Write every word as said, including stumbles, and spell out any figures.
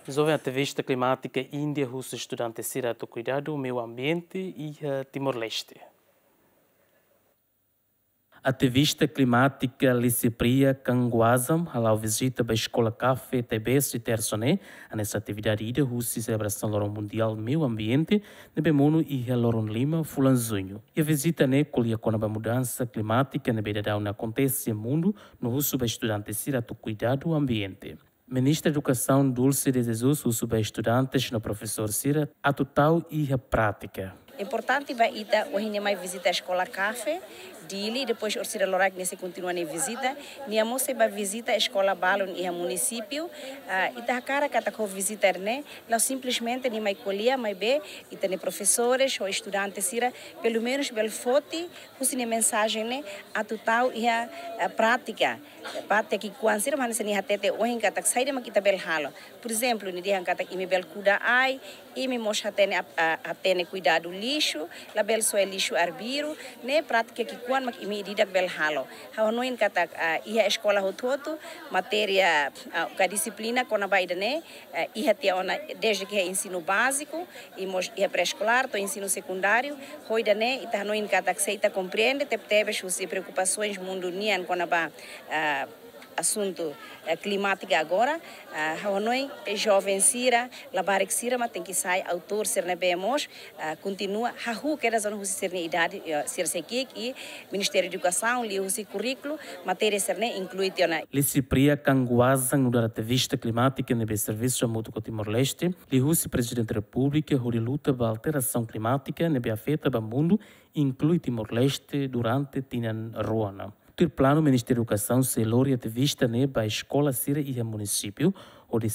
Joven ativista klimátika Índia husu estudante sira atu kuidadu meiu ambiente iha Timor-Leste. Ativista klimátika Lisipriya Kangwazam hala'o vizita ba eskola Kafe Tebes iha Tersa ne'e, hanesan atividade ida husi selebrasaun Loron Mundiál Meiu Ambiente ne'ebé monu iha loron lima fulan Juñu. Iha vizita ne'e ko'alia kona-ba mudansa klimátika ne'ebé daudaun akontese iha mundu no husu ba estudante sira atu kuidadu ambiente. Ministra Edukasaun Dulce de Jesus husu ba estudantes no profesór sira atu tau iha prátika. Importante ba ita ohin nia mai vizita eskola Kafe Dili, depois orsida loraik nia sei kontinua nia vizita, nia mós sei ba vizita eskola balun iha munisípiu. Ah, ita hakarak katak ho vizita ne'e la'ós simplesmente nia mai ko'alia, maibé ita-nia profesores ho estudante sira pelumenus bele foti husi nia mensajen ne'e atu tau iha, ah, prátika. Parte ki'ikoan sira mak hanesan nia hatete ohin katak saida mak ita bele halo. Por ezemplu, nia dehan katak imi bele kuda ai, imi mós hatene ap-, ah, hatene kuidadu lixu, labele soe lixu arbiru, ne'e prátika ki'ikoan mak imi ida-idak bele halo. Ha'u hanoin katak, ah, iha eskola hotu-hotu, matéria, ah, ka dixiplina kona-ba ida-ne'e, eh, iha tiha ona desde ke iha ensinu báziku, i mós iha pré-eskolár, to'o ensinu sekundáriu, ho ida-ne'e, ita hanoin katak se ita komprende tebetebes husi preokupasoens mundu nian kona-ba, ah, asuntu, eh, klimátika agora, ah, ha'u hanoin, eh, joven sira, labarik sira mak tenke sai autór sira ne'ebé mós, ah, kontinua hahú kedas ona husi sira-nia idade, eh, sira sei ki'ik i Ministériu Edukasaun liuhusi kurríkulu, matéria sira-ne'e inklui tiha ona. Lisipriya Kangwazam nu'udar ativista klimátika ne'ebé servisu hamutuk ho Timor-Leste liuhusi Prezidente Repúblika hodi luta ba alterasaun klimátika ne'ebé afeta ba mundu, inklui Timor-Leste durante tinan rua ona. Tuir planu, Ministériu Edukasaun sei lori ativista ne'e ba eskola sira iha munisípiu hodi